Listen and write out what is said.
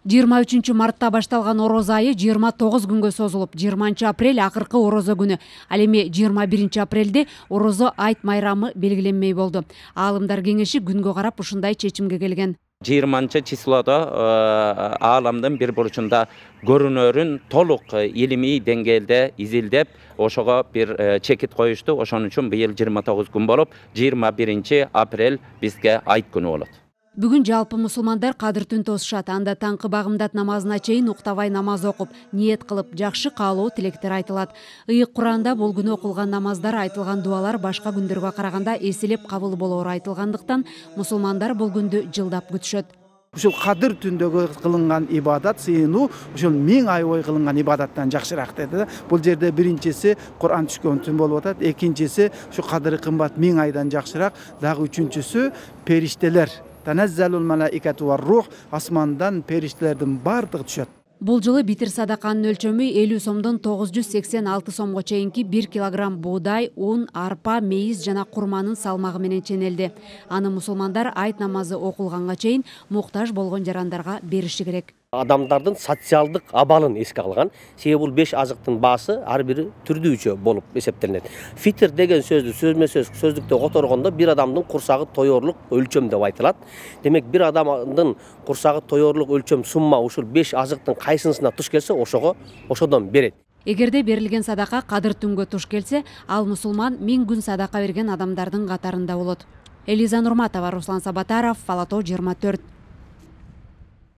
23-мартта башталган орозо айы 29 күнгө созулуп, 20-апрель акыркы орозо күнү. Ал эми 21-апрелде орозо айт майрамы белгиленмей болду. Аалымдар кеңеши күнгө карап ушундай чечимге келген. 20-числодо ааламдын бир бурчунда көрүнөрүн толук илимий деңгээлде изилдеп, ошого бир чекит коюшту. Ошон үчүн быйыл 29 күн болуп, 21-апрель бизге айт күнү болот. Бүгүн жалпы мусулмандар кадыр түн тосушат. Анда таңкы багымдат намазына чейин уктабай намаз окуп, ниет кылып, жакшы каалоо тилектер айтылат. Ыйык Куранда бул күнү окулган намаздар, айтылган дуалар башка күндөргө караганда эселеп кабыл болоору айтылгандыктан, мусулмандар бул күндү жылдап күтүшөт. Ушул кадыр түндөгү кылынган ибадат сыйынуу ушул 1000 ай бою кылынган ибадаттан жакшыраак деди. Бул жерде биринчиси Кур'ан түшкөн түн болуп атат, экинчиси ушу кадыры кымбат 1000 айдан жакшыраак, дагы үчүнчүсү периштелер. Танаzzalul malaikatu var ruh, асмандан периштелердин бардыгы түшөт. Бул жылы битир садаканын өлчөмү 50 сомдон 986 сомго чейинки 1 килограмм буудай, ун, арпа, мейиз жана курманын салмагы менен ченелди. Аны мусулмандар айт намазы окулганга чейин муктаж болгон жарандарга бериши керек. Адамдардын социалдык абалын эске алган. Себеби бул 5 азыктын баасы ар бири түрдүүчө болуп эсептелинет. Фитр деген сөздү сөзмө-сөз сөздүктө которгондо бир адамдын курсагы тоёрлук өлчөм деп айтылат. Демек бир адамдын курсагы тоёрлук өлчөм сумма ушул 5 азыктын кайсынысына туш келсе, ошодон берет. Эгерде берилген садака кадыр түнгө туш келсе, ал мусулман 1000 күн садака берген адамдардын катарында болот. Элиза Нурматова, Руслан Сабатаров, Фалато 24.